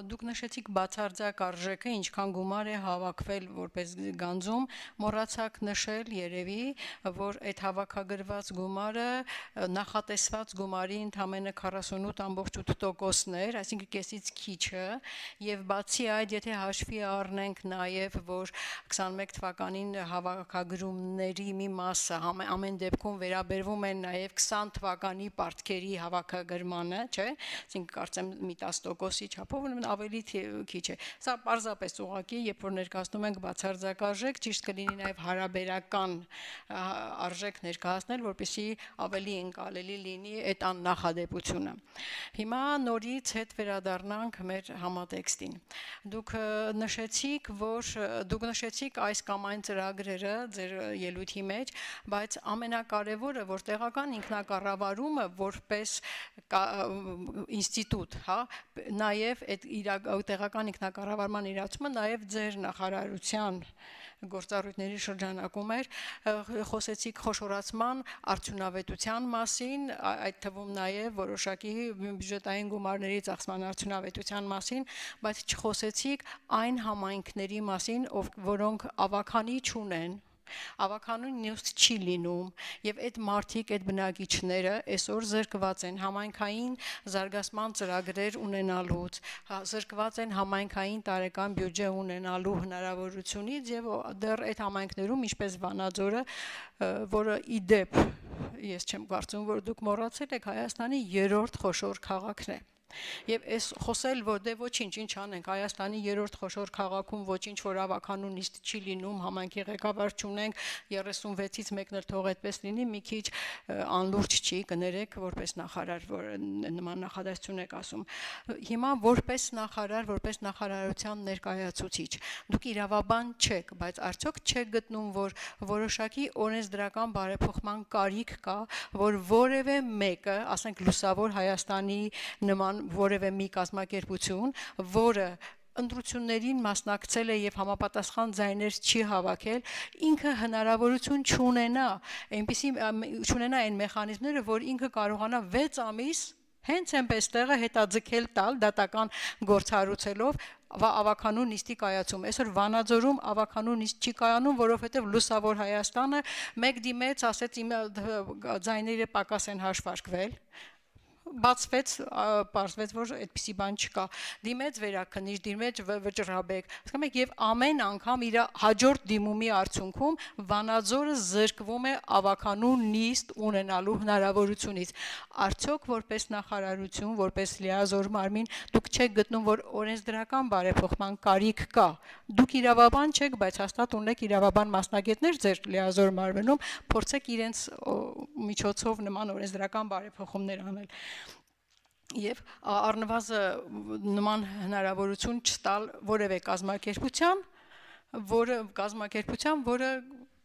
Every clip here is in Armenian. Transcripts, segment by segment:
դուք նշեցիք բացարձակ արժեքը, ինչքան գումար է հավաքվել որպես գանձում, մոռացաք նշել երևի, որ այդ հավաքագրված գումարը նախատեսված գումարի ընդամենը 48.8%-ն էր, այսինքն կեսից քիչը, եւ բացի այդ, եթե հաշվի առնենք նաեւ, որ 21 թվականին հավաքագրումների մի մասը ամեն դեպքում վերաբերվում են նաեւ 20 թվականի պարտքերի հավաքագրմանը, չէ՞, այսինքն կարծեմ մի 10%-ի չափով ավելի քիչ է։ Սա պարզապես ուղղակի, երբ որ ներկայացնում ենք բացարձակ արժեք, ճիշտ կլինի նաև հարաբերական արժեք ներկայացնել, որպեսզի ավելի ընկալելի լինի այդ աննախադեպությունը։ Հիմա նորից հետ վերադառնանք մեր համատեքստին։ Դուք նշեցիք այս կամ այն ծրագրերը ձեր ելույթի մեջ, բայց ամենակարևորը, որ տեղական ինքնակառավարումը որպես ինստիտուտ, հա, նաև այդ տեղական ինքնակառավարման իրացումը նաև ձեր նախարարության գործառույթների շրջանակում էր, խոսեցիք խոշորացման արդյունավետության մասին, այդ թվում նաև որոշակի բյուջետային գումարների ծախսման արդյունավետության մասին, բայց չխոսեցիք այն համայնքների մասին, որոնք ավաքանի չունեն, ավականուն նյութ չի լինում, եւ այդ մարդիկ, այդ բնակիչները այսօր զրկված են համայնքային զարգացման ծրագրեր ունենալուց, զրկված են համայնքային տարեկան բյուջե ունենալու հնարավորությունից եւ դեռ այդ համայնքներում, ինչպես Վանաձորը, որը ի դեպ ես չեմ կարծում, որ դուք մոռացել եք, Հայաստանի 3-րդ խոշոր քաղաքն է։ Եվ այս խոսել, որ դե ոչինչ, ինչ անենք, Հայաստանի 3-րդ խոշոր քաղաքում ոչինչ որ ավականուն նիստ չի լինում, համայնքի ղեկավար չունենք, 36-ից մեկն էլ թող այդպես լինի, մի քիչ անլուրջ չի, կներեք, որպես նախարար, որ նման նախադասություն եք ասում։ Հիմա որպես նախարար, որպես նախարարության ներկայացուցիչ, դուք իրավաբան չեք, բայց արդյոք չեք գտնում, որ որոշակի օրենսդրական բարեփոխման կարիք կա, որ որևէ մեկը, ասենք լուսավոր Հայաստանի նման որևէ մի կազմակերպություն, որը ընտրություններին մասնակցել է եւ համապատասխան ձայներ չի հավաքել, ինքը հնարավորություն չունենա այն մեխանիզմները, որ ինքը կարողանա 6 ամիս հենց այնպես տեղը հետաձգել տալ դատական գործառույթելով ավականու նիստի կայացում։ Այսօր Վանաձորում ավականու նիստ չի կայանում, որովհետև լուսավոր Հայաստանը մեկ դիմեց, ասեց իմ ձայները պակաս են հաշվարկվել, բացվեց, պարզվեց, որ այդպիսի բան չկա։ Դիմեց վերաքննիչ, դիմեց վճռաբեկ, հասկանում եք, եւ ամեն անգամ իր հաջորդ դիմումի արդյունքում Վանաձորը զրկվում է ավականու նիստ ունենալու հնարավորությունից։ Արդյոք որպես նախարարություն, որպես լիազոր մարմին, դուք չեք գտնում, որ օրենսդրական բարեփոխման կարիք կա։ Դուք իրավաբան չեք, բայց հաստատ ունեք իրավաբան մասնագետներ ձեր լիազոր մարմնում, փորձեք իրենց միջոցով նման օրենսդրական բարեփոխումներ անել։ Եվ առնվազն նման հնարավորություն չտալ որևէ կազմակերպության, որը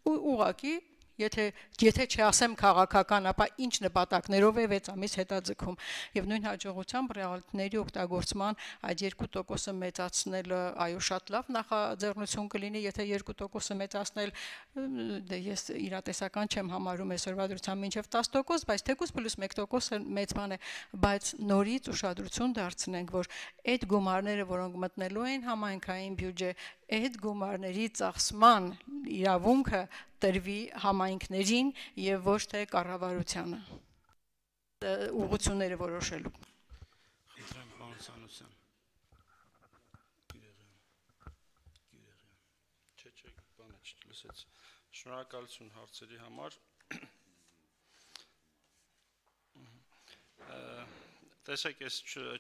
ուղղակի եթե չասեմ քաղաքական, ապա ինչ նպատակներով է 6 ամիս հետաձգում։ Եվ նույն հաջողությամբ ռեալիթիների օգտագործման այդ 2%-ը մեծացնելը, այո, շատ լավ նախաձեռնություն կլինի, եթե 2%-ը մեծացնել, դե ես իրատեսական չեմ համարում այսօրվա դրությամբ մինչև 10%, բայց թեկուզ պլյուս 1%-ը մեծ բան է, բայց նորից ուշադրություն դարձնենք, որ այդ գումարները, որոնք մտնելու են համայնքային բյուջե, այդ գումարների ծախսման իրավունքը տրվի համայնքներին եւ ոչ թե կառավարությանը ուղղությունները որոշելու։ Խնդրեմ, պարոն Սանոսյան։ Չէ, բանը չլսեց։ Շնորհակալություն հարցերի համար։ Տեսեք, այս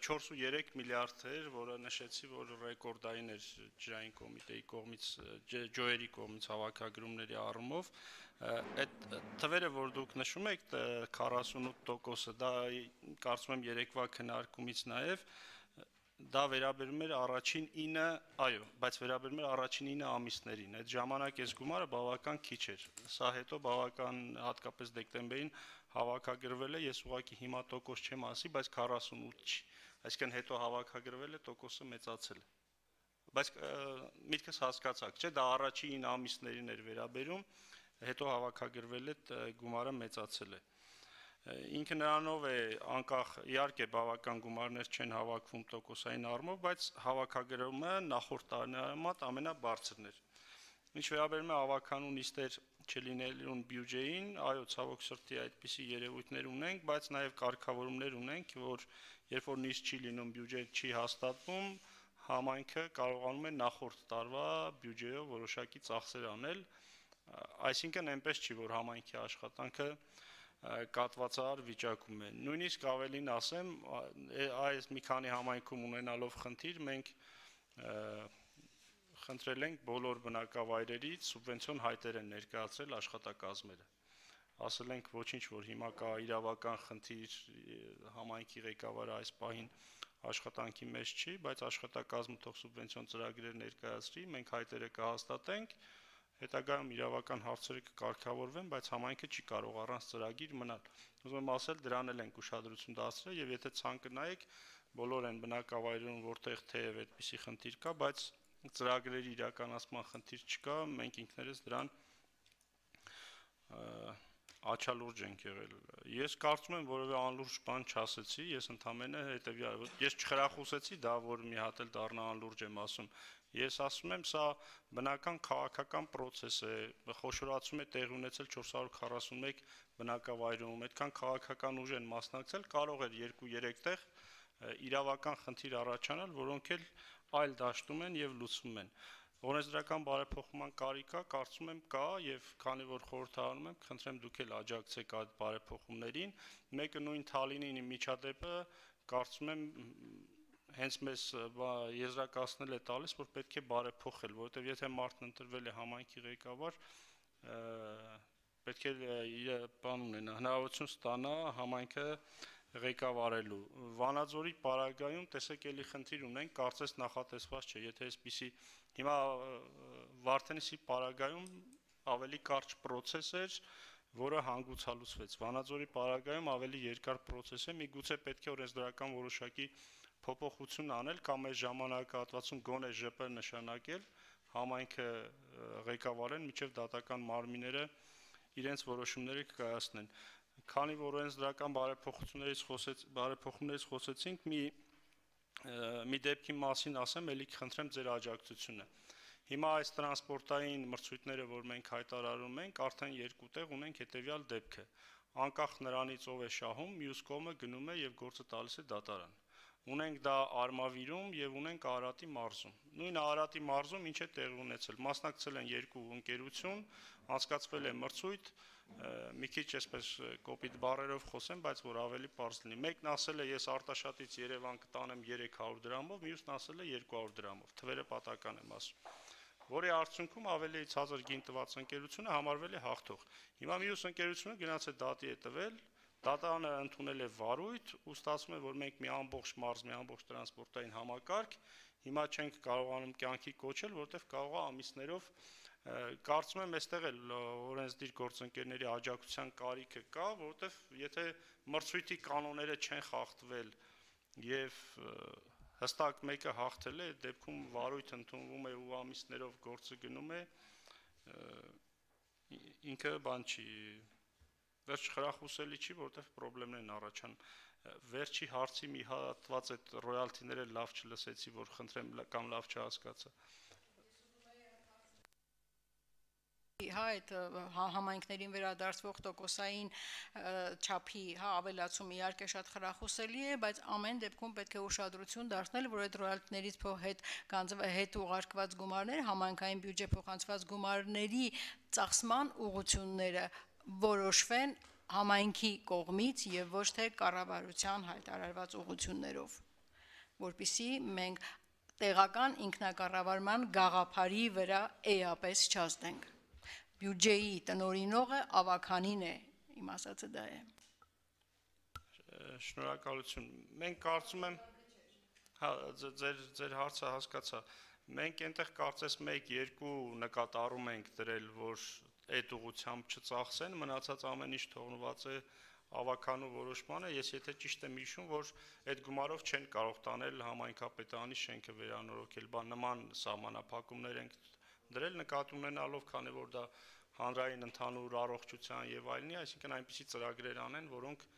4.3 միլիարդ էր, որը նշեցի, որ ռեկորդային էր ջրային կոմիտեի կողմից, ջոյերի կողմից հավաքագրումների առումով, այդ թվերը, որ դուք նշում եք, 48%-ը, դա կարծում եմ երեկվա քննարկումից նաև, դա վերաբերում էր առաջին 9, այո, բայց վերաբերում էր առաջին 9 ամիսներին, այդ ժամանակ այս գումարը բավական քիչ էր, սա հետո բավական հատկապես դեկտեմբերին հավաքագրվել է, ես ուղղակի հիմա տոկոս չեմ ասի, բայց 48 չի, այսինքն հետո հավաքագրվել է, տոկոսը մեծացել է, բայց միտքս հասկացաք, չէ, դա առաջին ամիսներին էր վերաբերում, հետո հավաքագրվել է, գումարը մեծացել է։ Ինքը նրանով է անկախ իհարկե բավական գումարներ չեն հավաքվում տոկոսային առումով, բայց հավաքագրումը նախորդ տարիների համեմատ ամենաբարձրն էր։ Ինչ վերաբերում է ավականու նիստեր չլինելուն բյուջեին, այո, ցավոք սրտի այդպիսի երևույթներ ունենք, բայց նաև կարգավորումներ ունենք, որ երբ որ նիստ չի լինում, բյուջե չի հաստատվում, համայնքը կարողանում է նախորդ տարվա բյուջեով որոշակի ծախսեր անել, այսինքն այնպես չի, որ համայնքի աշխատանքը կատվածահար վիճակում է։ Նույնիսկ ավելին ասեմ, այս մի քանի համայնքում ունենալով խնդիր, մենք խնդրել ենք բոլոր բնակավայրերից սուբվենցիոն հայտեր են ներկայացրել աշխատակազմերը։ Ասել ենք ոչինչ, որ հիմա կա իրավական խնդիր, համայնքի ղեկավարը այս պահին աշխատանքի մեջ չի, բայց աշխատակազմը թող սուբվենցիոն ծրագրեր ներկայացրի, մենք հայտերը կհաստատենք, հետագայում իրավական հարցերը կկարգավորվեն, բայց համայնքը չի կարող առանց ծրագիր մնալ։ Ուզում եմ ասել, դրան էլ ենք ուշադրություն դարձրել եւ եթե ցանկը նայեք, բոլոր են բնակավայրերում, որտեղ թեև այդպիսի խնդիր կա, բայց ծրագրերի իրականացման խնդիր չկա, մենք ինքներս դրան աչալուրջ ենք եղել։ Ես կարծում եմ, որևէ անլուրջ բան չասեցի, ես ընդամենը հետեւյալ, ես չխրախուսեցի դա, որ մի հատ էլ դառնա անլուրջ եմ ասում։ Ես ասում եմ, սա բնական քաղաքական process է, խոշորացում է տեղի ունեցել 441 բնակավայրում, այդքան քաղաքական ուժ են մասնակցել, կարող էր 2-3 տեղ իրավական խնդիր առաջանալ, որոնք էլ այլ դաշտում են եւ լուծվում են։ Օրենսդրական բարեփոխման կարիք կա, կարծում եմ կա եւ քանի որ խորհրդարանում եմ, խնդրեմ դուք էլ աջակցեք այդ բարեփոխումներին։ Մեկը նույն Թալինի միջադեպը կարծում եմ հենց մեզ եզրակացնել է տալիս, որ պետք է բարեփոխել, որովհետեւ եթե մարդն ընտրվել է համայնքի ղեկավար, պետք է իր բան ունենա, հնարավորություն ստանա համայնքը ղեկավարելու։ Վանաձորի պարագայում տեսեք էլի խնդիր ունենք, կարծես նախատեսված չէ, եթե այսպիսի հիմա Վարդենիսի պարագայում ավելի կարճ process էր, որը հանգուցալուծվեց։ Վանաձորի պարագայում ավելի երկար process է, միգուցե պետք է օրենսդրական որոշակի փոփոխություն անել կամ այս ժամանակահատվածում գոնե ԺՊ նշանակել, համայնքը ղեկավարեն, մինչև դատական մարմինները իրենց որոշումները կկայացնեն։ Քանի որ օրենսդրական բարեփոխումներից խոսեցինք, մի դեպքի մասին ասեմ, ելի կխնդրեմ ձեր աջակցությունը։ Հիմա այս տրանսպորտային մրցույթները, որ մենք հայտարարում ենք, արդեն 2 տեղ ունենք հետևյալ դեպքը։ Անկախ նրանից ով է շահում, մյուս կողմը գնում է եւ գործը տալիս է դատարան։ Ունենք դա Արմավիրում եւ ունենք Արարատի մարզում։ Նույն Արարատի մարզում ինչ է տեղի ունեցել։ Մասնակցել են 2 ընկերություն, անցկացվել է մրցույթ, մի քիչ այսպես կոպիտ բառերով խոսեմ, բայց որ ավելի པարզ լինի։ Մեկն ասել է ես Արտաշատից Երևան կտանեմ 300 դրամով, մյուսն ասել է 200 դրամով։ Թվերը պատական եմ ասում։ Որի արդյունքում ավելի ցածր գին տված ընկերությունը համարվել է հաղթող։ Հիմա մյուս ընկերությունը գնաց է դատի է տվել, դատարանը ընդունել է վարույթ, ու ստացվում է, որ մենք մի ամբողջ մարզ, մի ամբողջ տրանսպորտային համակարգ հիմա չենք կարողանում կյանքի կոչել, որտեղ կարող է ամիսներով կարծում եմ այստեղ էլ օրենսդիր գործընկերների աջակցության կարիքը կա, որովհետև եթե մրցույթի կանոնները չեն խախտվել եւ հստակ մեկը հաղթել է, այդ դեպքում վարույթ ընդունվում է ու ամիսներով գործը գնում է, ինքը բան չի, վերջ խրախուսելի չի, որովհետև խնդիրներ են առաջանում։ Վերջի հարցի մի հատված այդ ռոյալթիները լավ չլսեցի, որ խնդրեմ կամ լավ չհասկացա։ Այդ համայնքներին վերադարձվող տոկոսային չափի ավելացումը իհարկե շատ խրախուսելի է, բայց ամեն դեպքում պետք է ուշադրություն դարձնել, որ այդ ռոյալտիներից հետ ուղարկված գումարները, համայնքային բյուջե փոխանցված գումարների ծախսման ուղղությունները որոշվեն համայնքի կողմից եւ ոչ թե կառավարության հայտարարված ուղղություններով, որպեսզի մենք տեղական ինքնակառավարման գաղափարի վրա էապես չազդենք։ Բյուջեի տնօրինողը ավականին է, իմ ասածը դա է։ Շնորհակալություն։ Մենք կարծում եմ, հա, ձեր հարցը հասկացա։ Մենք այնտեղ կարծես 1-2 նկատառում ենք դրել, որ այդ ուղղությամբ չծախսեն, մնացած ամեն ինչ թողնված է ավականու որոշմանը, ես եթե ճիշտ եմ հիշում, որ այդ գումարով չեն կարող տանել համայնքապետարանի շենքը վերանորոգել, նման սահմանափակումներ ենք դրել նկատի ունենալով, քանի որ դա հանրային ընդհանուր առողջության եւ այլնի, այսինքն այնպիսի ծրագրեր անեն, որոնք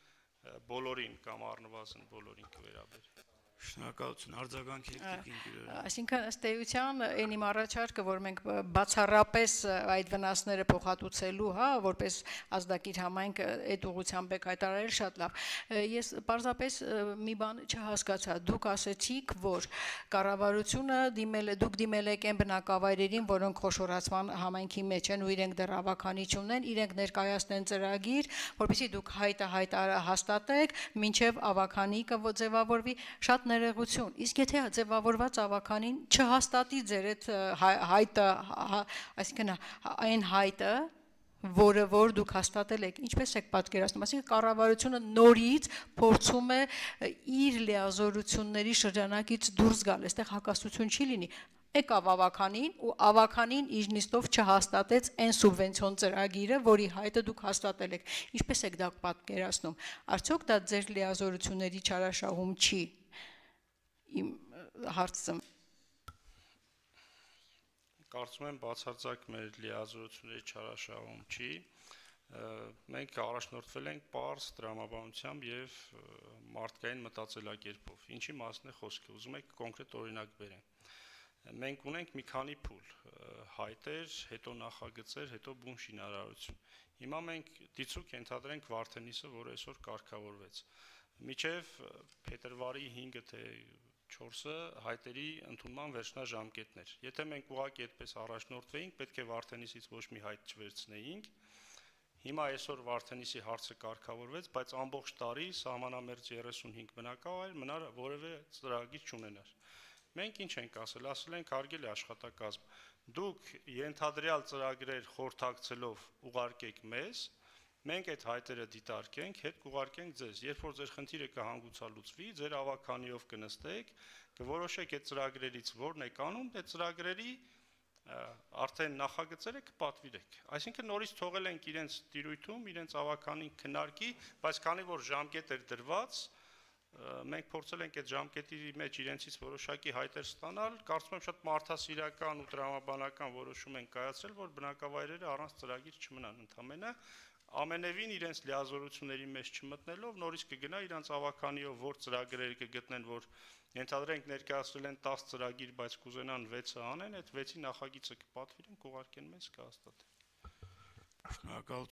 բոլորին կամ առնվազն բոլորին կվերաբերի։ Շնորհակալություն, արձագանք եք Տիկին Գյուրերյան։ Այսինքն ըստ էության այն իմ առաջարկը, որ մենք բացառապես այդ վնասները փոխհատուցելու, հա, որպես ազդակիր համայնք այդ ուղղությամբ եք հայտարարել, շատ լավ։ Ես պարզապես մի բան չհասկացա։ Դուք ասեցիք, որ կառավարությունը դուք դիմել եք այն բնակավայրերին, որոնք խոշորացման համայնքի մեջ են ու իրենք դեռ ավականի չունեն, իրենք ներկայացնեն ծրագիր, որպեսզի դուք հաստատեք, մինչև ավականի կձևավորվի, շատ ներողություն, իսկ եթե ձևավորված ավականին չհաստատի ձեր այդ հայտը, այսինքն այն հայտը, որը որ դուք հաստատել եք, ինչպես եք պատկերացնում, այսինքն կառավարությունը նորից փորձում է իր լիազորությունների շրջանակից դուրս գալ, այստեղ հակասություն չի լինի, եկավ ավականին ու ավականին իր նիստով չհաստատեց այն սուբվենցիոն ծրագիրը, որի հայտը դուք հաստատել եք, ինչպես եք դա պատկերացնում, արդյոք դա ձեր լիազորությունների չարաշահում չի, իմ հարցը Կարծում եմ բացարձակ մեր լիազորությունների չարաշահում չի, մենք առաջնորդվել ենք պարզ տրամաբանությամբ եւ մարդկային մտածելակերպով, ինչի մասն է խոսքը, ուզում եք կոնկրետ օրինակ բերեմ, մենք ունենք մի քանի փուլ, հայտեր, հետո նախագծեր, հետո բուն շինարարություն, հիմա մենք դիցուկ ենթադրենք Վարդենիսը, որ այսօր կարգավորվեց, միջև փետրվարի 5-ը թե 4-ը հայտերի ընդունման վերջնաժամկետներ։ Եթե մենք ուղղակի այդպես առաջնորդվեինք, պետք է Վարդենիսից ոչ մի հայտ չվերցնեինք։ Հիմա այսօր Վարդենիսի հարցը կարգավորվեց, բայց ամբողջ տարի սահմանամերձ 35 բնակավայր մնար որևէ ծրագիր չունենար։ Մենք ինչ ենք ասել, ասել ենք հարգելի աշխատակազմ, դուք ենթադրյալ ծրագրեր խորհրդակցելով ուղարկեք մեզ, մենք այդ հայտերը դիտարկենք, հետ կուղարկենք ձեզ, երբ որ ձեր խնդիրը կհանգուցալուծվի, ձեր ավականիով կնստեք, կորոշեք այդ ծրագրերից որն եք անում, այդ ծրագրերի արդեն նախագծերը կպատվիրեք։ Այսինքն նորից թողել ենք իրենց տիրույթում, իրենց ավականին քննարկի, բայց քանի որ ժամկետ էր դրված, մենք փորձել ենք այդ ժամկետի մեջ իրենցից որոշակի հայտեր ստանալ, կարծում եմ շատ մարդասիրական ու տրամաբանական որոշում են կայացրել, որ բնակավայրերը առանց ծրագիր չմնան ընդամենը ամենևին իրենց լիազորությունների մեջ չմտնելով նորից կգնա իրենց ավականիով որ ծրագրեր կգտնեն, որ ենթադրենք ներկայացրել են 10 ծրագիր, բայց կուզենան 6-ը անեն, այդ 6-ի նախագիծը կպատվիրեն, կուղարկեն մեզ կհաստատեն։ Շնորհակալ